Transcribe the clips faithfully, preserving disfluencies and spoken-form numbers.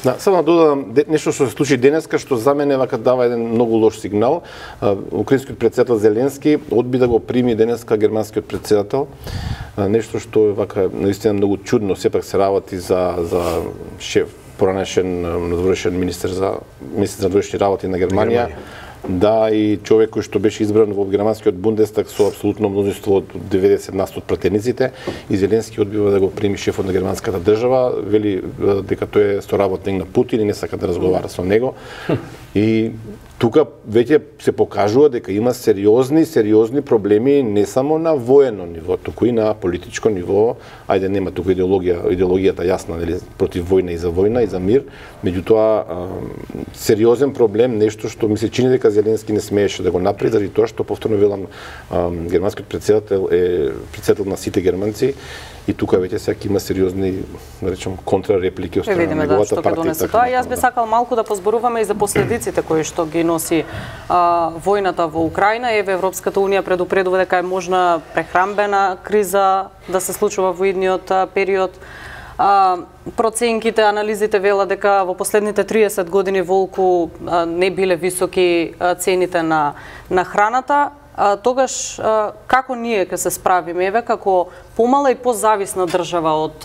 Да, само да додадам нешто што се случи денеска, што за мене вака дава еден многу лош сигнал. Украинскиот претседател Зеленски одби да го прими денеска германскиот претседател. Нешто што е вака наистина многу чудно, сепак се работи за за шеф поранешен надворешен министер за министер за надворешни работи на Германија. Да, и човек кој што беше избран во германскиот Бундестаг со апсолутно мнозинство од деветдесет на сто од пратениците, и Зеленски одбива да го прими шефот на германската држава, вели дека тој е соработник на Путин и не сака да разговара со него. И тука веќе се покажува дека има сериозни, сериозни проблеми не само на воено ниво, туку и на политичко ниво. Ајде, нема тука идеологија, идеологијата јасна, нели, против војна и за војна и за мир, меѓутоа сериозен проблем, нешто што ми се чини дека Зеленски не смееше да го направи, заради тоа што повторно велам, германскиот претседател е претседател на сите германци. И тука веќе сега има сериозни, да речем, контрареплики од страна на неговата партија. Да, тоа јас би сакал малку да позборуваме и за последиците кои што ги носи а, војната во Украина. Еве Европската унија предупредува дека е можна прехранбена криза да се случува во идниот период. А, проценките, анализите велат дека во последните триесет години волку а, не биле високи а, цените на на храната. А, тогаш а, како ние ќе се справиме, еве како помала и позависна држава од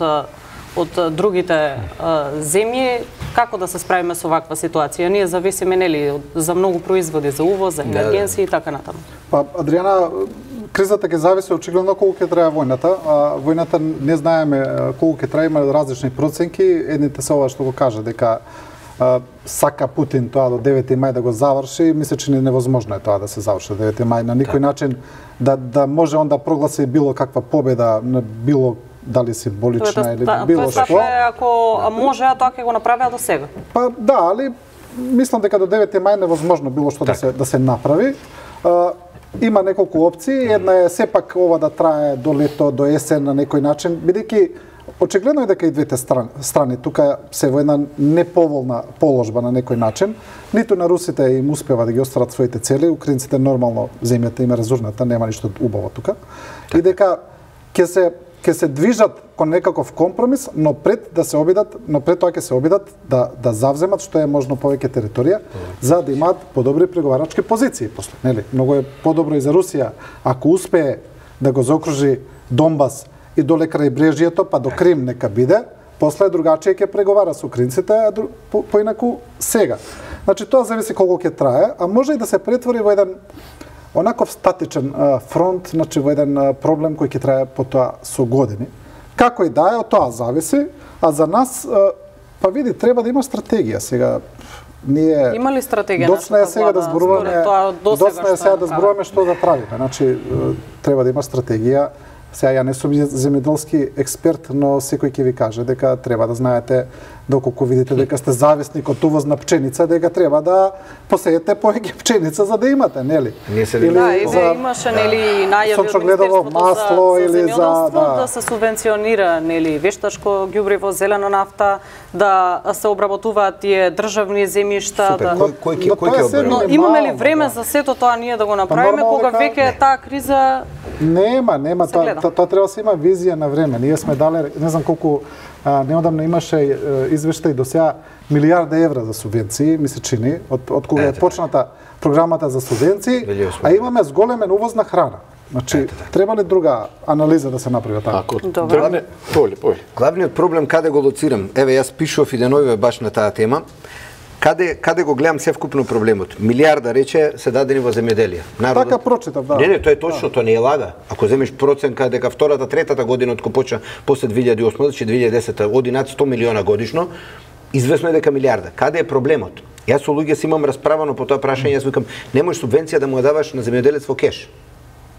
од другите а, земји, како да се справиме со ваква ситуација? Ние зависиме, нели, за многу производи, за увоз, за енергенци и така натаму. Па, Адријана, кризата ќе зависи очигледно колку ќе трае војната. А, војната не знаеме колку ќе трае, има различни проценки. Едните се ова што го кажа дека а, сака Путин тоа до девети мај да го заврши, мисля че не невозможно е тоа да се заврши до девети мај на никој начин, да да може он да прогласи било каква победа на било дали символична или та, било што. Тоа е ако може, а тоа ќе го направи до сега. Па да, али мислам дека до девети мај невозможно било што так. да се да се направи. А, има неколку опции, една е сепак ова да трае до лето, до есен на некој начин, бидејќи очигледно е дека и двете страни, страни тука се во една неповолна положба на некој начин. Ниту на русите им успева да ги остварат своите цели, украинците нормално земјата им е разурната, нема ништо убаво тука. Так. И дека ќе се ќе се движат кон некаков компромис, но пред да се обидат, но пред тоа ќе се обидат да да завземат што е можно повеќе територија, mm. за да имаат подобри преговарачки позиции после, нели? Многу е подобро и за Русија ако успее да го заокружи Донбас и доле крај брежјето, па до Крим нека биде, после другачие ќе преговара со украинците, а по, поинаку сега. Значи тоа зависи колку ќе трае, а може и да се претвори во еден онаков статичен а, фронт, значи во еден а, проблем кој ќе трае потоа со години. Како и да е, од тоа зависи, а за нас, а, па види, треба да има стратегија сега. Ние има ли стратегија? Доцна е сега да зборуваме, доцна е сега да зборуваме што да правиме. Значи треба да има стратегија. Сега ја не сум земјоделски експерт, но секој ќе ви каже дека треба да знаете, доколку видите дека сте зависник од увоз на пченица, дека треба да посеете повеќе пченица за да имате, нели? Или да, еве за... имаше нели најави од Министерството масло за, или за да. да се субвенционира нели вештачко ѓубриво, зелена нафта, да се обработуваат тие државни земјишта, Супер. да кој кој ќе кој ќе Но имаме ли време за сето тоа ние да го направиме кога веќе таа криза Нема, нема, тоа тоа то треба да се има визија на време. Ние сме дале, не знам колку а, неодамна имаше извештај до сега милијарда евра за субвенции, ми се чини, од од кога е почната програмата за субвенции, а имаме зголемен увоз на храна. Значи, Ете, треба ли друга анализа да се направи таа? Добре. Поли, поли. Главниот проблем каде го лоцирам? Еве јас пишував и деновиве баш на таа тема. Каде каде го гледам севкупно проблемот? Милијарда рече се дадени во земјоделие. Народот... Така прочитав, да. Не, не, тоа е точно, да. Тоа не е лага. Ако земеш проценка дека втората, третата година од кога почна после две илјади и осма, значи две илјади и десета оди над сто милиона годишно, известно е дека милијарда. Каде е проблемот? Јас со луѓе си имам расправано по тоа прашање, јас викам, не можеш субвенција да му ја даваш на земјоделец во кеш.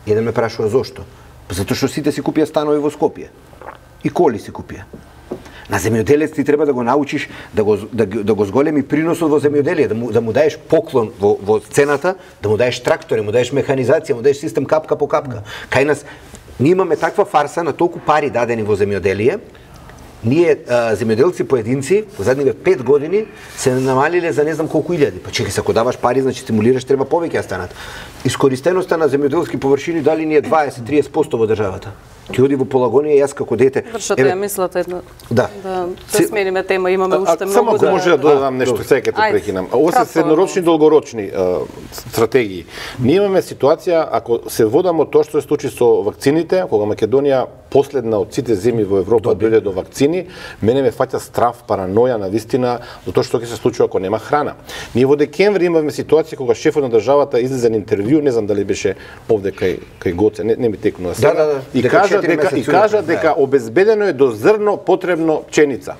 Еден ме прашува зошто? Затоа што сите си купија станови во Скопје. И коли си купија. На земјоделец ти треба да го научиш да го да, да го зголеми приносот во земјоделие, да му да му даеш поклон во во цената, да му даеш трактори, му даеш механизација, му даеш систем капка по капка. Кај нас ние имаме таква фарса на толку пари дадени во земјоделие. Ние а, земјоделци поединци во задниве пет години се намалиле за не знам колку илјади. Па чекај, се ако даваш пари, значи стимулираш, треба повеќе да станат. Искористеноста на земјоделски површини дали ни е дваесет до триесет проценти во државата. Ќе оди во Полагонија, јас како дете. Вршате ја мислата една. Да. Да, да смениме тема, имаме уште многу. Само ако да, може да додадам нешто, сега ќе те прекинам. Ова се среднорочни и долгорочни а, стратегии. Ние имаме ситуација, ако се водамо тоа што се случи со вакцините, кога Македонија последна од сите земји во Европа дојде до вакцини, мене ме фаќа страв, параноја на вистина за тоа што ќе се случи ако нема храна. Ние во декември имавме ситуација кога шефот на државата излезе на интервју, не знам дали беше овде кај кај Гоце, не, не ми текнува сега. Да, да, да. И дека кажа дека и кажа дека обезбедено е до зрно потребно пченица.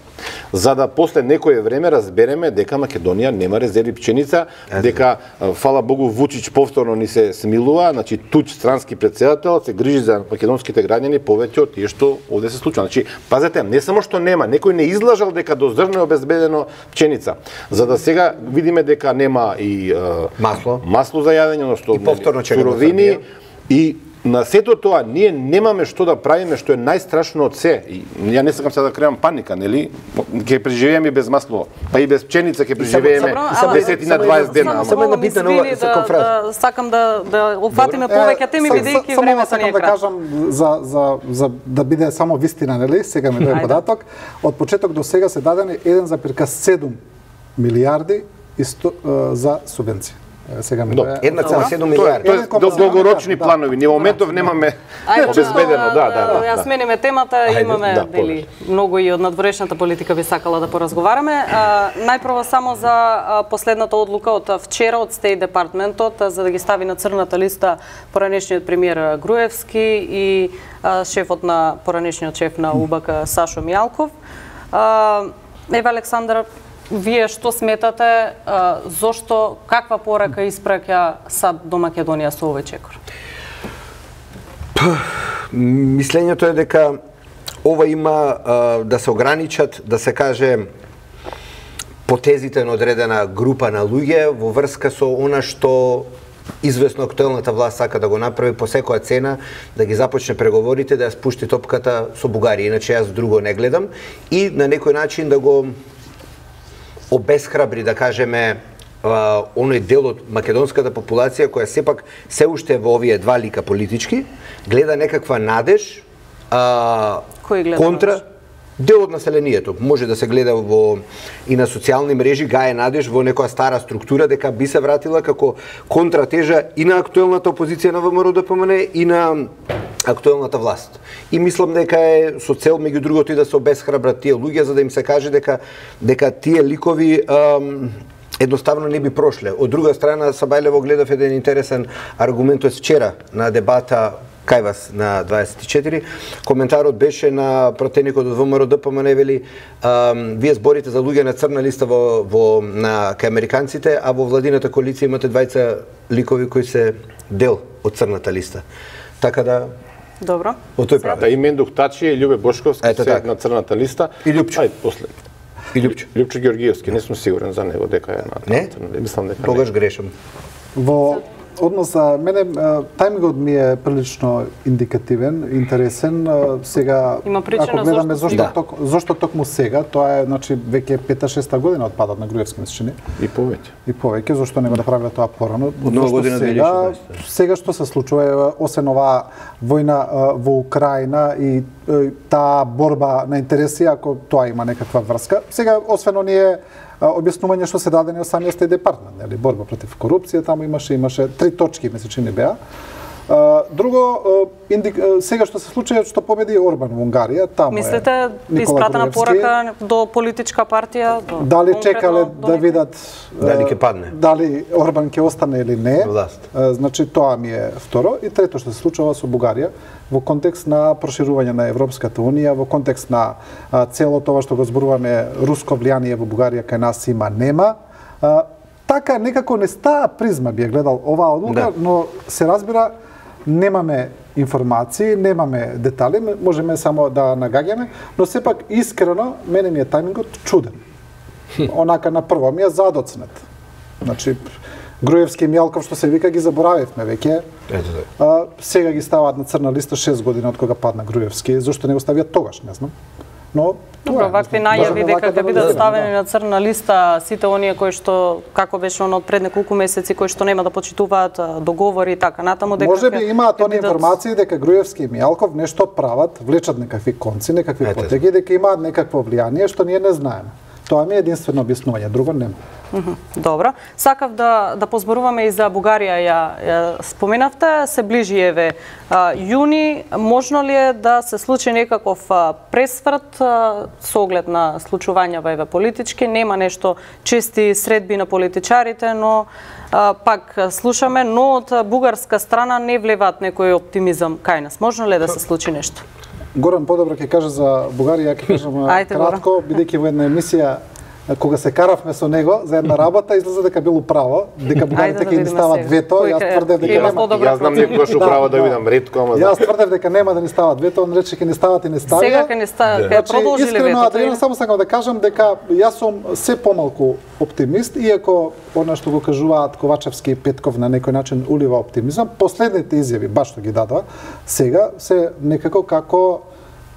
За да после некое време разбереме дека Македонија нема резерви пченица, дека фала Богу Вучич повторно ни се смилува, значи туч странски претседател се грижи за македонските граѓани повеќе од тие што овде се случува. Значи, пазете, не само што нема, некој не излажал дека до зрно е обезбедено пченица. За да сега видиме дека нема и е, масло, масло за јадење, односно и повторно суровини и на сето тоа ние немаме што да правиме, што е најстрашно од се. И ја не сакам сега да креам паника, нели? Ќе преживееме и без масло, па и без пченица ќе преживееме десетина дваесет дена. Само една битна нова за конференција. Сакам да да опфатиме повеќе теми бидејќи времето ни е кратко. Да кажам за за за да биде само вистина, нели? Сега ми дојде податок. Од почеток до сега се дадени еден зарез седум милијарди за субвенции. Сега ми дојде еден цела седум милијарди. Тоа е долгорочни планови. Ние во моментов немаме обезбедено, да, да, да. Ја смениме темата, имаме дели многу и од надворешната политика би сакала да поразговараме. Најпрво само за последната одлука од вчера од State Department-от за да ги стави на црната листа поранешниот премиер Груевски и шефот на поранешниот шеф на УБК Сашо Мијалков. Еве Александар, вие што сметате, зошто, каква порака испраќа САД до Македонија со овој чекор? Мислењето е дека ова има да се ограничат, да се каже, потезите на одредена група на луѓе во врска со она што извесно актуелната власт сака да го направи по секоја цена, да ги започне преговорите, да ја спушти топката со Бугарија, иначе јас друго не гледам, и на некој начин да го обесхрабри, да кажеме, оној дел од македонската популација која сепак се уште во овие два лика политички, гледа некаква надеж а, контра дел од населението. Може да се гледа во и на социјални мрежи, гаe надеж во некоја стара структура дека би се вратила како контратежа и на актуелната опозиција на ВМРО-ДПМН и на актуелната власт. И мислам дека е со цел меѓу другото и да се обесхрабрат тие луѓе за да им се каже дека дека тие ликови ам, едноставно не би прошле. Од друга страна, Сабајлево гледав еден интересен аргумент од вчера на дебата кај вас на дваесет и четири. Коментарот беше на пратеникот од ВМРО-ДПМН, вели, вие зборите за луѓе на црна листа во, во на кај американците, а во владината коалиција имате двајца ликови кои се дел од црната листа. Така да Добро. Од тој прави. Да, и Мендух Тачи и Љубе Бошковски се на црната листа. И Љупчо. Ајде после. И Љупчо. Љупчо Георгиевски, не сум сигурен за него дека е на не? црната. Мислам дека тогаш грешам. Во однос за мене тајмингот ми е прилично индикативен, интересен. Сега има причина ако гледаме зошто зошто ток, зошто токму сега, тоа е значи веќе пета-шеста година од падот на Груевски месечини. И повеќе. И повеќе, зошто не го направиле тоа порано? Нова година сега, сега што се случува, освен оваа војна во Украина и таа борба на интереси, ако тоа има некаква врска. Сега, освен оние објаснување што се дадени од самиот State Department, нели, борба против корупција, таму имаше имаше три точки месечини беа. Друго, индик... сега што се случува што победи Орбан во Унгарија, таму мислите, е Никола испратена Груевски. порака до политичка партија? До дали чекале да видат дали ќе падне? Дали Орбан ќе остане или не? Власт. Значи тоа ми е второ. И трето што се случува со Бугарија во контекст на проширување на Европската унија, во контекст на цело тоа што го зборуваме руско влијание во Бугарија кај нас има нема. Така некако не стаа призма би ја гледал оваа одлука, да. Но се разбира немаме информации, немаме детали, можеме само да нагаѓаме, но сепак искрено мене ми е тајмингот чуден. Онака на прво ми е задоцнет. Значи Груевски и Мијалков што се вика ги заборавивме веќе. Ето а, сега ги ставаат на црна листа шест години од кога падна Груевски. Зошто не го ставиат тогаш, не знам. Но Добро, вакви најави дека ќе бидат ставени на црна листа сите оние кои што, како беше оно од пред неколку месеци, кои што нема да почитуваат договори и така натаму, дека може би имаат оние информации дека Груевски и Мијалков нешто прават, влечат некакви конци, некакви потеги, дека имаат некакво влијание што ние не знаеме. Тоа ми е единствено објаснување, друго нема. Добро. Сакав да да позборуваме и за Бугарија, ја, ја споменавте, се ближи еве јуни, можно ли е да се случи некаков пресврт со оглед на случувањава еве политички, нема нешто чести средби на политичарите, но а, пак слушаме, но од бугарска страна не влеваат некој оптимизам кај нас. Можно ли е да се случи нешто? Горан подобро ќе каже за Бугарија, ќе кажам кратко, бидејќи во една емисија кога се каравме со него за една работа, излезе дека било право, дека бугарите ќе ни стават вето, јас тврдев дека нема. Јас знам некогаш управа да видам ретко, ама јас тврдев дека нема да ни стават вето, он рече ќе ни стават и не ставија. Сега ќе ни стават, ќе продолжиле вето. Искрено, Адриан, само сакам да кажам дека јас сум се помалку оптимист, иако она што го кажуваат Ковачевски и Петков на некој начин улива оптимизам, последните изјави баш што ги дадоа сега се некако како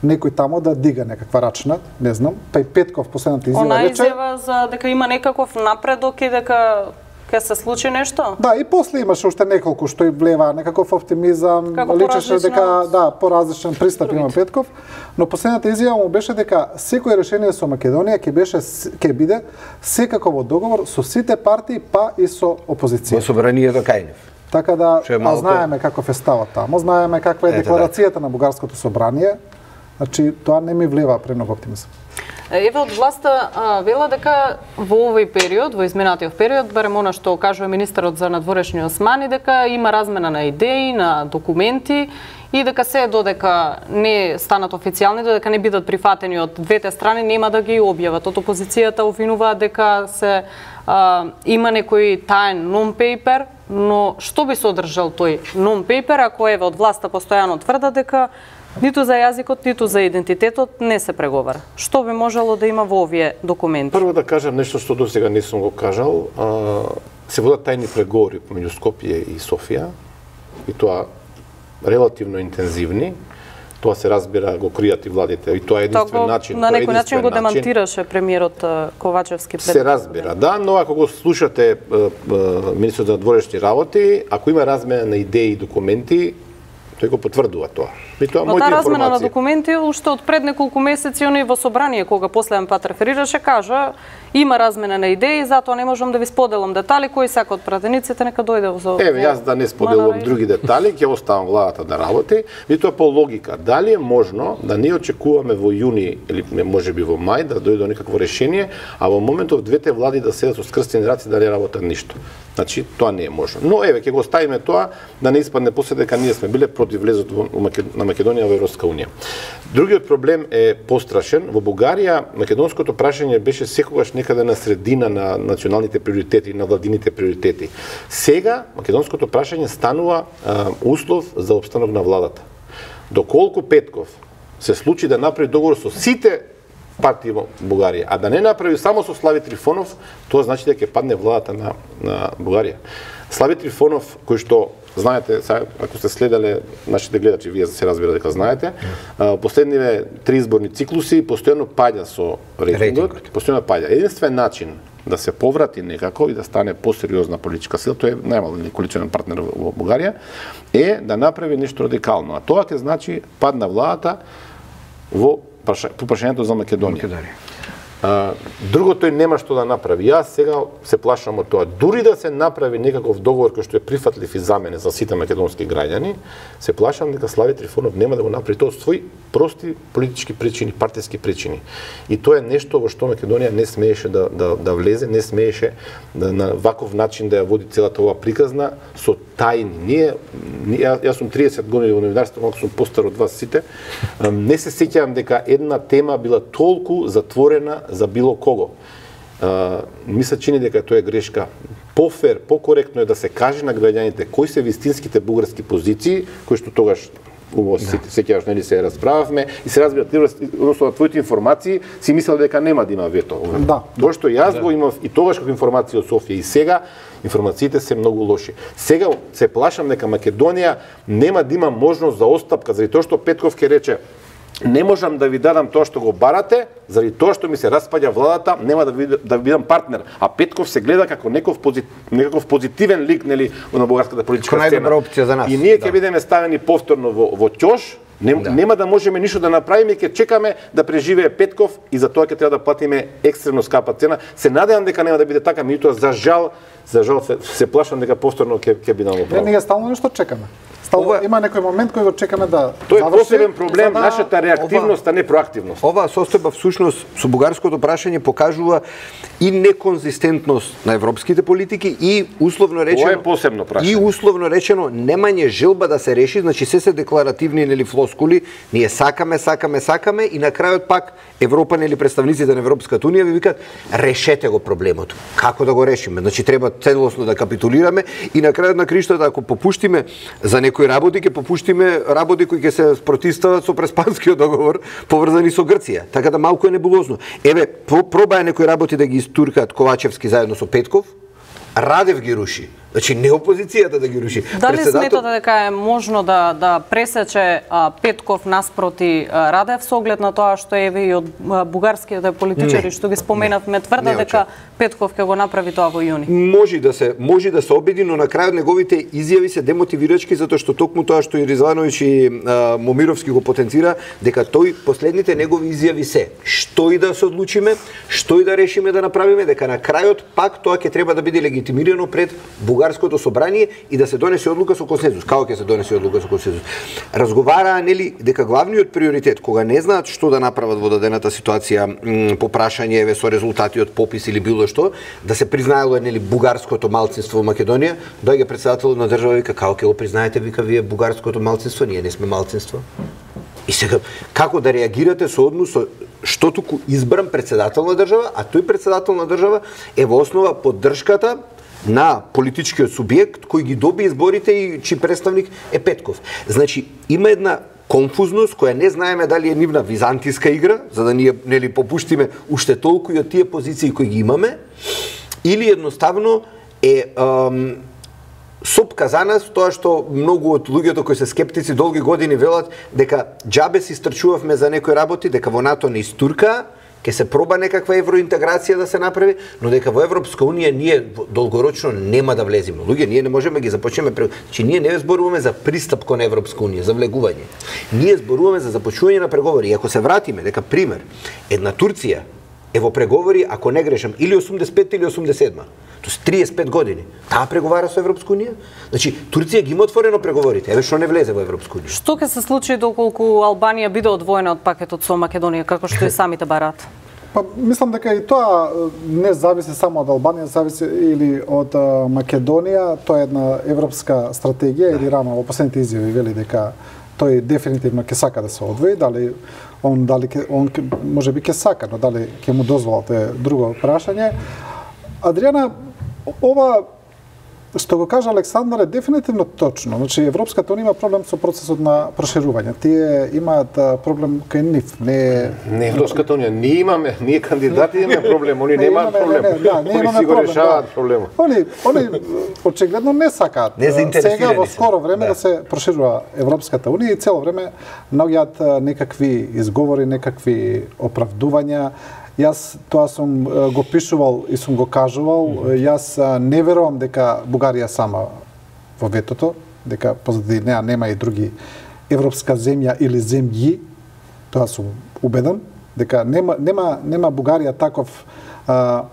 некој тамо да дига некаква рачна, не знам, па и Петков последната изјава рече. Она изјава за дека има некаков напредок и дека ќе се случи нешто? Да, и после имаше уште неколку што и влева некаков оптимизам, како личеше дека да, поразличен пристап има Петков, но последната изјава му беше дека секој решение со Македонија ќе беше ќе биде секако во договор со сите партии, па и со опозиција. Во собранието кај нив. Така да, а знаеме каков е ставот тамо, знаеме каква е декларацијата на бугарското собрание. Значи, тоа не ми влева премногу оптимизам. Еве од власта а, вела дека во овој период, во изминатиот период, барем она што кажува министерот за надворешни османи, дека има размена на идеи, на документи и дека се додека не станат официјални, додека не бидат прифатени од двете страни, нема да ги објават. Од опозицијата обвинуваат дека се а, има некој таен non-paper, но што би содржал тој non-paper ако еве од власта постојано тврдат дека ниту за јазикот, ниту за идентитетот не се преговара. Што би можело да има во овие документи? Прво да кажам нешто што досега не сум го кажал. А, се водат тајни преговори меѓу Скопје и Софија, и тоа релативно интензивни. Тоа се разбира, го кријат и владите, и тоа е единствен начин. На некој начин го демантираше премиерот Ковачевски пред. Се разбира, да, но ако го слушате министерот за надворешни работи, ако има размена на идеи и документи, тој го потврдува тоа. И тоа Но таа размена на документи уште од пред неколку месеци оној во собрание кога последен пат реферираше кажа има размена на идеи, затоа не можам да ви споделам детали, кој сака од пратениците нека дојде во. Еве јас да не споделувам други детали, ќе оставам владата да работи, и тоа по логика. Дали е можно да не очекуваме во јуни или можеби во мај да дојде до некакво решение, а во моментов двете влади да седат со скрстени раци да не работат ништо. Значи тоа не е можно. Но еве ќе го ставиме тоа да не испадне после дека ние сме биле против влезот на Македонија во Европска унија. Другиот проблем е пострашен. Во Бугарија македонското прашање беше секогаш некаде на средина на националните приоритети, на владините приоритети. Сега македонското прашање станува а, услов за опстанок на владата. Доколку Петков се случи да направи договор со сите партии во Бугарија, а да не направи само со Слави Трифонов, тоа значи дека ќе падне владата на, на Бугарија. Слави Трифонов, кој што знаете, ако сте следеле нашите гледачи, вие се разбира дека знаете, последниве три изборни циклуси постојано паѓа со рейтингот, постојано паѓа. Единствен начин да се поврати некако и да стане посериозна политичка сила, тој е најмален коалиционен партнер во Бугарија, е да направи нешто радикално. А тоа ќе значи пад на владата во по прашањето за Македонија. А, друго тој нема што да направи. Јас сега се плашам од тоа. Дури да се направи некаков договор кој што е прифатлив и за мене за сите македонски граѓани, се плашам дека Слави Трифонов нема да го направи тоа од своји прости политички причини, партиски причини. И тоа е нешто во што Македонија не смееше да да да влезе, не смееше да на ваков начин да ја води целата оваа приказна со тајни. Ние, ја, јас сум триесет години во новинарството, малку сум постар од вас сите. Не се сеќавам дека една тема била толку затворена за било кого. Uh, ми се чини дека тоа е грешка. Пофер, покоректно е да се каже на граѓаните кои се вистинските бугарски позиции, кои што тогаш убаво се сеќаваш, нели се расправавме и се разбира ти односно на твоите информации си мислел дека нема да има вето. Да. Тоа што јас да. го имав и тогаш како информации од Софија и сега информациите се многу лоши. Сега се плашам дека Македонија нема да има можност за остапка заради тоа што Петков ќе рече не можам да ви дадам тоа што го барате, заради тоа што ми се распаѓа владата, нема да ви да ви бидам партнер. А Петков се гледа како неков позит, некаков позитивен лик, нели, на бугарската политичка сцена. Најдобра опција за нас. И ние ќе да. бидеме ставени повторно во во ќош. Нем, да. Нема да можеме ништо да направиме, ќе чекаме да преживее Петков и за тоа ќе треба да платиме екстрено скапа цена. Се надевам дека нема да биде така, меѓутоа за жал, за жал се, се плашам дека повторно ќе ќе бидеме право. Ние стално нешто чекаме. Стало, ова, има некој момент кој го чекаме да Тој е посебен проблем, да, нашата реактивност, ова, а не проактивност. Оваа состојба всушност со бугарското прашање покажува и неконзистентност на европските политики и условно речено Ова е посебно прашање. И условно речено немање желба да се реши, значи се се декларативни нели флоскули, ние сакаме, сакаме, сакаме и на крајот пак Европа нели представниците на Европската унија ви викаат решете го проблемот. Како да го решиме? Значи треба целосно да капитулираме и на крајот на криштата ако попуштиме за некои работи, ќе попуштиме работи кои ќе се спротивстават со Преспанскиот договор поврзани со Грција. Така да малку е небулозно. Еве, пробаја некои работи да ги истуркаат Ковачевски заедно со Петков, Радев ги руши. Значи не опозицијата да ги руши. Дали Председател... сметате дека е можно да да пресече а, Петков наспроти а, Радев со оглед на тоа што еве и од а, бугарските политичари што ги споменавме тврдат дека Петков ќе го направи тоа во јуни? Може да се може да се обиди, но на крајот неговите изјави се демотивирачки затоа што токму тоа што и Ризвановиќ и а, Момировски го потенцира дека тој последните негови изјави се што и да се одлучиме, што и да решиме да направиме, дека на крајот пак тоа ќе треба да биде легитимирано пред Бугарското собрание и да се донесе одлука со консензус. Како ќе се донесе одлука со консензус? Разговараа нели дека главниот приоритет кога не знаат што да направат во дадената ситуација по прашање еве со резултати од попис или било што, да се признаело нели бугарското малцинство во Македонија, доаѓа претседателот на држава вика како ќе го признаете вика вие бугарското малцинство, ние не сме малцинство. И сега како да реагирате со однос со што туку избран претседател на држава, а тој претседател на држава е во основа поддршката на политичкиот субјект кој ги доби изборите и чиј представник е Петков. Значи, има една конфузност која не знаеме дали е нивна византиска игра, за да ние нели попуштиме уште толку и од тие позиции кои ги имаме, или едноставно е ам, сопка за нас, тоа што многу од луѓето кои се скептици долги години велат дека џабе си стрчувавме за некои работи, дека во НАТО не истурка, ќе се проба некаква евроинтеграција да се направи, но дека во Европска унија ние долгорочно нема да влеземе. Луѓе, ние не можеме ги започнеме, че ние не зборуваме за пристап кон Европска унија, за влегување. Ние зборуваме за започнување на преговори. И ако се вратиме, дека пример, една Турција е во преговори, ако не грешам, или осумдесет и пет или осумдесет и седма. Тоест триесет и пет години. Таа преговара со Европска унија? Значи, Турција ги има отворено преговорите, еве што не влезе во Европска унија. Што ќе се случи доколку Албанија биде одвоена од пакетот со Македонија, како што и самите бараат? Па, мислам дека и тоа не зависи само од Албанија, зависи или од а, Македонија, тоа е една европска стратегија, или Рама во последните изјави вели дека тој дефинитивно ќе сака да се одвои, дали он дали ке, он можеби ќе сака, но дали ќе му дозволите друго прашање. Адријана, ова што го кажа Александар е дефинитивно точно. Значи Европската унија има проблем со процесот на проширување. Тие имаат проблем кај нив, не не Европската унија, ние имаме, ние кандидати имаме проблем, они не немаат проблем. Не, не, да, не имаме си го проблем, решаваат да. проблемот. Они они очигледно не сакаат. Не сега во скоро време да. да се проширува Европската унија и цело време наоѓаат некакви изговори, некакви оправдувања. Јас тоа сум го пишувал и сум го кажувал, јас не верувам дека Бугарија сама во ветото, дека позади неа нема и други европска земја или земји, тоа сум убеден, дека нема нема нема Бугарија таков а,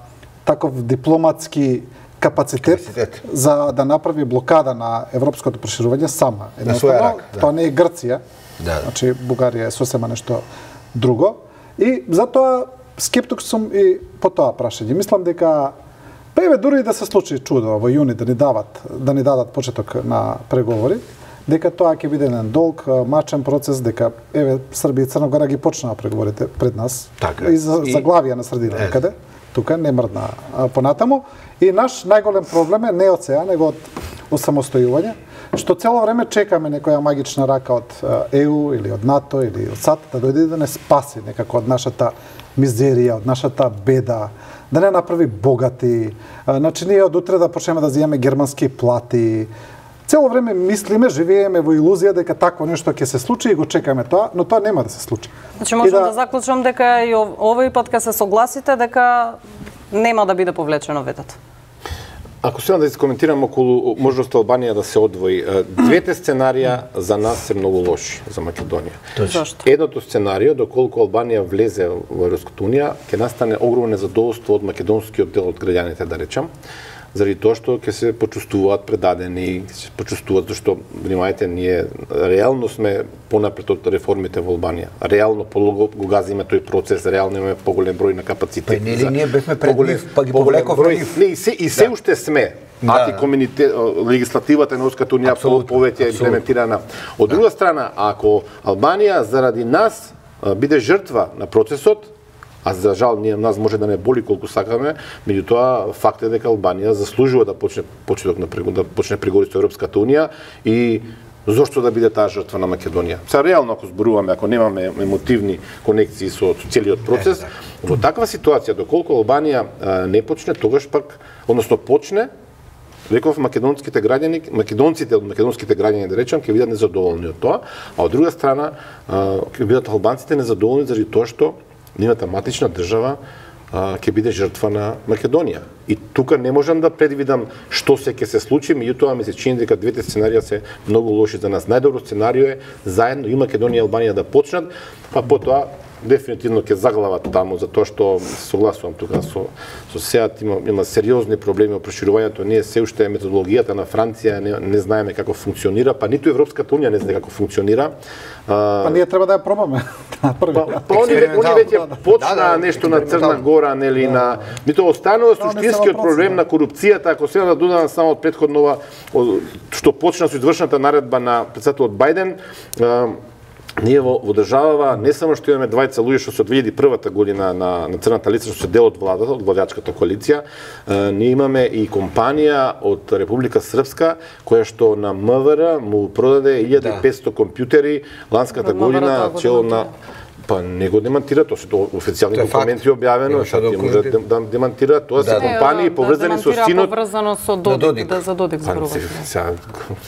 таков дипломатски капацитет, капацитет за да направи блокада на европското проширување сама. Едноставно, да. Тоа не е Грција. Да. Значи Бугарија е сосема нешто друго и затоа скептик сум и по тоа прашање. Мислам дека па еве дури да се случи чудо во јуни да ни дават да ни дадат почеток на преговори, дека тоа ќе биде еден долг, мачен процес, дека еве Србија и Црна Гора ги почнаа преговорите пред нас. Така, и за заглавија на средина некаде. Тука не мрдна понатаму. И наш најголем проблем е не од сега, него од осамостојување, што цело време чекаме некоја магична рака од Е У или од НАТО или од САД да дојде да не спаси некако од нашата мизерија, од нашата беда, да не направи богати. Значи ние од утре да почнеме да земаме германски плати. Цело време мислиме, живееме во илузија дека такво нешто ќе се случи и го чекаме тоа, но тоа нема да се случи. Значи можам да... да заклучам дека и овој пат кога се согласите дека нема да биде повлечено ветото. Ако сега да искоментирам околу можноста Албанија да се одвои, двете сценарија за нас се многу лоши за Македонија. Зашто? Едното сценарио, доколку Албанија влезе во Европската унија, ќе настане огромно незадоволство од македонскиот дел од граѓаните, да речам, заради тоа што ќе се почувствуваат предадени, ќе се почувствуваат зашто, внимајте, ние реално сме понапред од реформите во Албанија. Реално полого го газиме тој процес, реално имаме поголем број на капацитет. Па нели ние бевме пред нив, па ги повлековме. Не, и се, и се уште сме. Да. Антикомунитет, легислативата на Европската унија повеќе имплементирана. Од друга страна, ако Албанија заради нас биде жртва на процесот, а за жал ние нас може да не боли колку сакаме, меѓутоа факт е дека Албанија заслужува да почне почеток на да почне преговори со Европската унија и зошто да биде таа жртва на Македонија. Са реално ако зборуваме, ако немаме емотивни конекции со целиот процес, во таква ситуација доколку Албанија а, не почне, тогаш пак, односно почне, реков македонските граѓани, македонците од македонските граѓани да речам ќе бидат незадоволни од тоа, а од друга страна ќе бидат албанците незадоволни заради тоа што нивната матична држава ќе биде жртва на Македонија. И тука не можам да предвидам што се ќе се случи, меѓутоа ми се чини дека двете сценарија се многу лоши за нас. Најдобро сценарио е заедно и Македонија и Албанија да почнат, па потоа дефинитивно ќе заглават таму, затоа што согласувам тука со со СЕАТ има има сериозни проблеми во проширувањето. Ние се уште методологијата на Франција не, не знаеме како функционира, па ниту Европската унија не знае како функционира. А, па ние треба да ја пробаме. Па, па они, они веќе почна да, да, нешто на Црна Гора, нели да. На мито останува суштинскиот проблем на корупцијата, ако сега да додадам само од претходнова што почна со извршната наредба на председателот Бајден. Ние во, во државава не само што имаме двајца луѓе што се од две илјади и прва година на, на црната листа што се дел од владата, од владачката коалиција, е, ние имаме и компанија од Република Српска која што на МВР му продаде илјада и петстотини компјутери ланската година чело на па не го демантира, тоа се официјални документи објавено, што ти може да демантира, тоа се компании поврзани со синот. Поврзано со Додик, да за Додик зборуваме.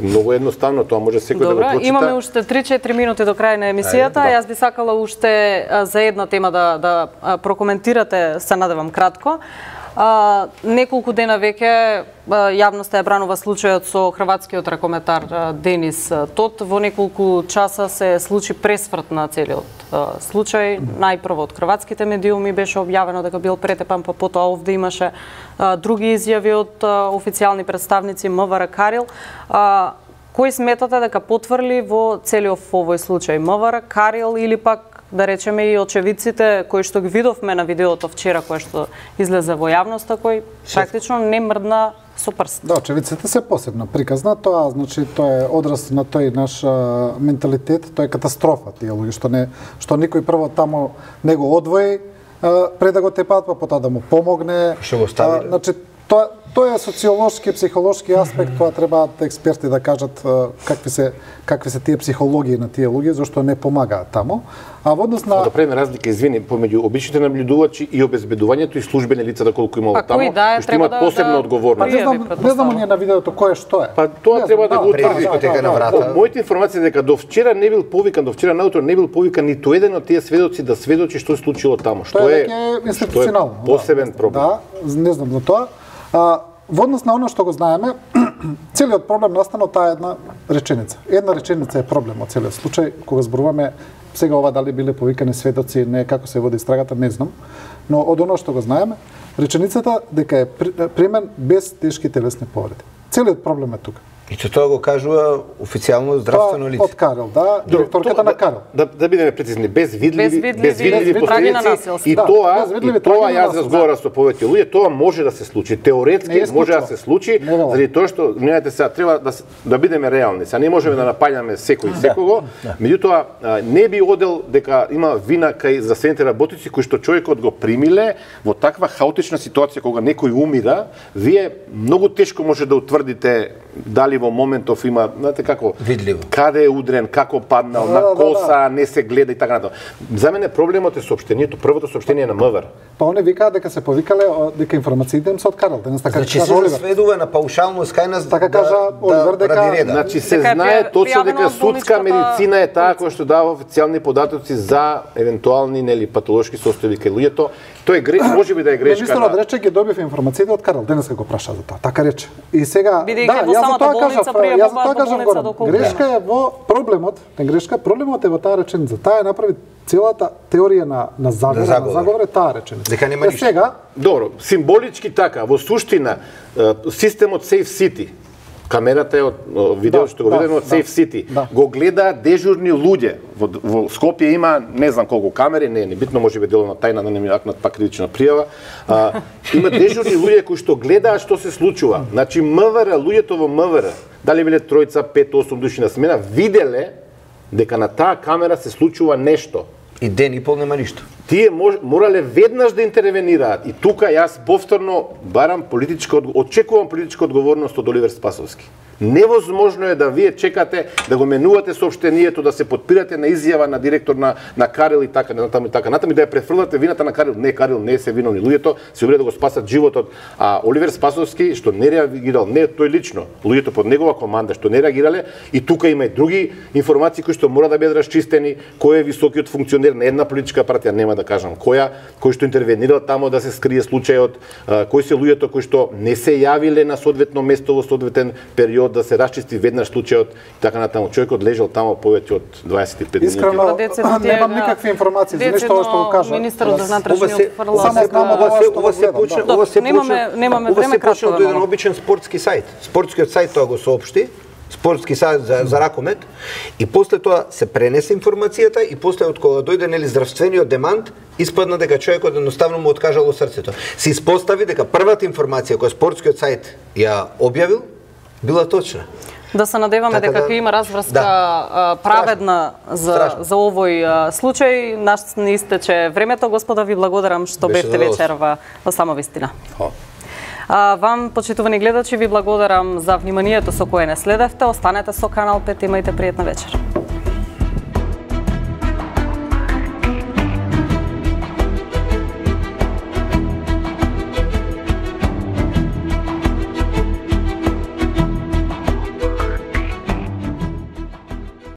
Многу едноставно, тоа може секој да го прочита. Имаме уште три-четири минути до крај на емисијата. Јас би сакала уште за една тема да да прокоментирате, се надевам кратко. А, неколку дена веќе јавноста ја бранува случајот со хрватскиот ракометар Денис Тот. Во неколку часа се случи пресврт на целиот случај. Најпрво од хрватските медиуми беше објавено дека бил претепан, па потоа овде имаше а, други изјави од а, официјални представници МВР Карил. А, кој сметате дека потврли во целиот овој случај? МВР Карил или пак да речеме и очевидците кои што ги видовме на видеото вчера кое што излезе во јавноста, кој практично не мрдна со прст. Да, очевидците се посебно приказна, тоа значи тоа е одраз на тој наш а, менталитет, тоа е катастрофа тие луѓе што не што никој прво таму не го одвои а, пред да го тепат, па потоа да му помогне. Што го стави? А, значи тоа тоа е социолошки, психолошки аспект, тоа требаат експерти да кажат а, какви се какви се тие психологии на тие луѓе, зашто не помагаат таму. А во однос на да правиме разлика, извини, помеѓу обичните набљудувачи и обезбедувањето и службени лица да колку има таму, да, што имаат да, посебна да, одговорност. Па не знам, не знам ние на видеото кое што е. Па тоа треба да, да го утврди. Да, да, да, да. Моите информации дека до вчера не бил повикан, до вчера наутро не бил повикан ниту еден од тие сведоци да сведочи што се случило таму, што е институционално. Посебен проблем. Да, не знам за тоа. А, во однос на оно што го знаеме, целиот проблем настана од таа една реченица. Една реченица е проблем од целиот случај, кога зборуваме сега ова дали биле повикани сведоци, не како се води истрагата, не знам, но од оно што го знаеме, реченицата дека е примен без тешки телесни повреди. Целиот проблем е тука. И че тоа го кажува официјално здравствено лице. Од Карел, да, директорката на Карел. Да, да бидеме прецизни, без видливи, без без видливи последици. И да, тоа, и тоа јас разговарам со повеќе луѓе, тоа може да се случи. Теоретски може да се случи, заради тоа што, знаете сега, треба да да бидеме реални. Сега не можеме да напаѓаме секој секого, меѓутоа не би одел дека има вина кај здравствените работници кои што човекот го примиле во таква хаотична ситуација кога некој умира, вие многу тешко може да утврдите дали во моментов има, знаете како, видливо. Каде е удрен, како паднал, Да, на да, коса, не се гледа и така натаму. За мене проблемот е соопштението, првото соопштение на МВР. Па они викаат дека се повикале о, дека информациите им се откарал. Денес така Значи кажа се Оливер. сведува на паушално скајна Така кажа Оливер дека- ради реда. Значи се Дека е знае точно пријавено дека од судска болничката медицина е таа која што дава официјални податоци за евентуални нели патолошки состојби кај луѓето. Тој е греш, можеби да е грешка. Министерот на- рече ги добив информациите од Карал. Денеска го праша за тоа. Така рече. И сега Бидејќи да, во јас за самата тоа болница кажав, пријавуваат јас за тоа во кажав болница Горан. доколку Грешка е во проблемот, не грешка, проблемот е во таа реченица. Таа е направи целата теорија на на заговор, На на заговор. заговор е таа реченица. Дека нема Е, ништо. Сега Добро, символички така, во суштина, е, системот Safe City, камерата е од о, видео Да, што го да, видиме од да, Safe City, да. го гледаат дежурни луѓе. Во, во Скопје има не знам колку камери, не е не битно, можеби деловна тајна да не ми акнат пак критична пријава. А, има дежурни луѓе кои што гледаат што се случува. Значи МВР, луѓето во МВР, дали биле тројца, пет, осум души на смена, виделе дека на таа камера се случува нешто. И ден и пол нема ништо. Тие мож, морале веднаш да интервенираат. И тука јас повторно барам политичка, одго- очекувам политичка одговорност од Оливер Спасовски. Невозможно е да вие чекате да го менувате соопштението, да се подпирате на изјава на директор на, на Карел и така, натаму и така, натаму и да ја префрлате вината на Карел. Не, Карел не се виновни. Луѓето се обиде да го спасат животот. А Оливер Спасовски, што не реагирал, не тој лично, луѓето под негова команда што не реагирале, и тука има и други информации кои што мора да бидат расчистени, кој е високиот функционер на една политичка партија, нема да кажам која, кој што интервенирал тамо да се скрие случајот, а, кои се луѓето кои што не се јавиле на соодветно место во соодветен период да се расчисти веднаш случајот и така натаму. Човекот лежал тамо повеќе од дваесет и пет минути. искрено Децидно тие немам на- никакви информации за нешто децидно што го кажа. Министерот за Јас- внатрешни Ова се отфрла само дека- знам од Ова се, што ова го се гледам, почна, да. ова се Немаме- почна, немаме ова време, се почна кратко од да еден мало. обичен спортски сајт. Спортскиот сајт тоа го соопшти, спортски сајт за, за ракомет, и после тоа се пренесе информацијата и после од кога дојде нели здравствениот демант, испадна дека човекот едноставно му откажало срцето. Се испостави дека првата информација која спортскиот сајт ја објавил била точна. Да се надеваме Така дека да- ќе има разврска да. а, праведна за, Страшно. за овој а, случај. Нас не истече времето, господа, ви благодарам што Беше бевте задоволство. вечер во, во Само вистина. Фала. А, вам, почитувани гледачи, ви благодарам за вниманието со кое не следевте. Останете со Канал пет, имајте пријатна вечер.